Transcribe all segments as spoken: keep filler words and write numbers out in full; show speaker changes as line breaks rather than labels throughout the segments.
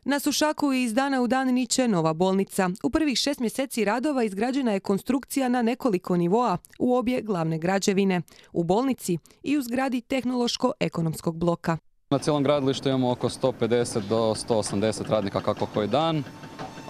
Na Sušaku iz dana u dan niče nova bolnica. U prvih šest mjeseci radova izgrađena je konstrukcija na nekoliko nivoa u obje glavne građevine, u bolnici i u zgradi tehnološko-ekonomskog bloka.
Na cijelom gradilištu imamo oko sto pedeset do sto osamdeset radnika kako koji dan.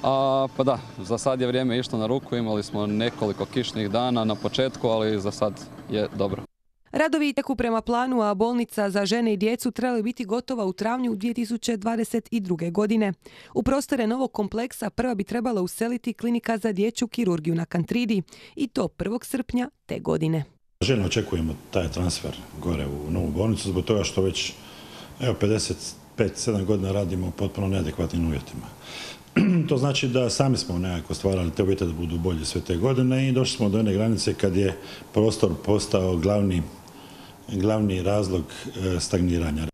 A, pa da, za sad je vrijeme išlo na ruku, imali smo nekoliko kišnih dana na početku, ali za sad je dobro.
Radovi teku prema planu, a bolnica za žene i djecu trebala biti gotova u travnju dvije tisuće dvadeset druge. godine. U prostore novog kompleksa prva bi trebala useliti klinika za dječju kirurgiju na Kantridi i to prvog srpnja te godine.
Željno očekujemo taj transfer gore u novu bolnicu zbog toga što već evo, pedeset pet sedam godina radimo u potpuno neadekvatnim uvjetima. To znači da sami smo nekako stvarali te uvjete da budu bolje sve te godine i došli smo do jedne granice kad je prostor postao glavni, glavni razlog stagniranja.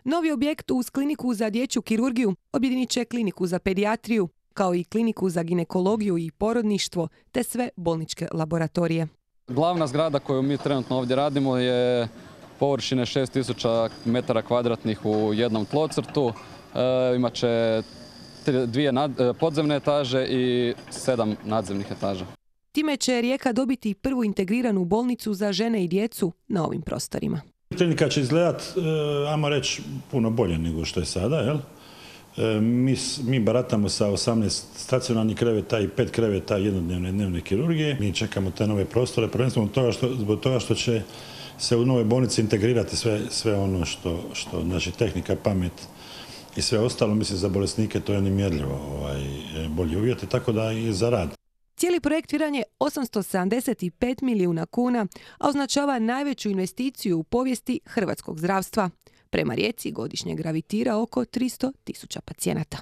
Novi objekt uz kliniku za dječju kirurgiju objedinit će kliniku za pedijatriju, kao i kliniku za ginekologiju i porodništvo, te sve bolničke laboratorije.
Glavna zgrada koju mi trenutno ovdje radimo je površine šest tisuća metara kvadratnih u jednom tlocrtu. E, imat će dvije nad, podzemne etaže i sedam nadzemnih etaža.
Time će Rijeka dobiti prvu integriranu bolnicu za žene i djecu na ovim prostorima.
Klinika će izgledati, ajmo reći, puno bolje nego što je sada. Jel? Mi, mi baratamo sa osamnaest stacionarnih kreveta i pet kreveta jednodnevne dnevne kirurgije. Mi čekamo te nove prostore, prvenstveno zbog toga što, zbog toga što će se u nove bolnici integrirati sve, sve ono što, što, znači tehnika, pamet i sve ostalo. Mislim, za bolesnike to je nemjerljivo ovaj, bolji uvjeti, tako da i za rad.
Cijeli projekt vrijedan je osamsto sedamdeset pet milijuna kuna, a označava najveću investiciju u povijesti hrvatskog zdravstva. Prema Rijeci godišnje gravitira oko tristo tisuća pacijenata.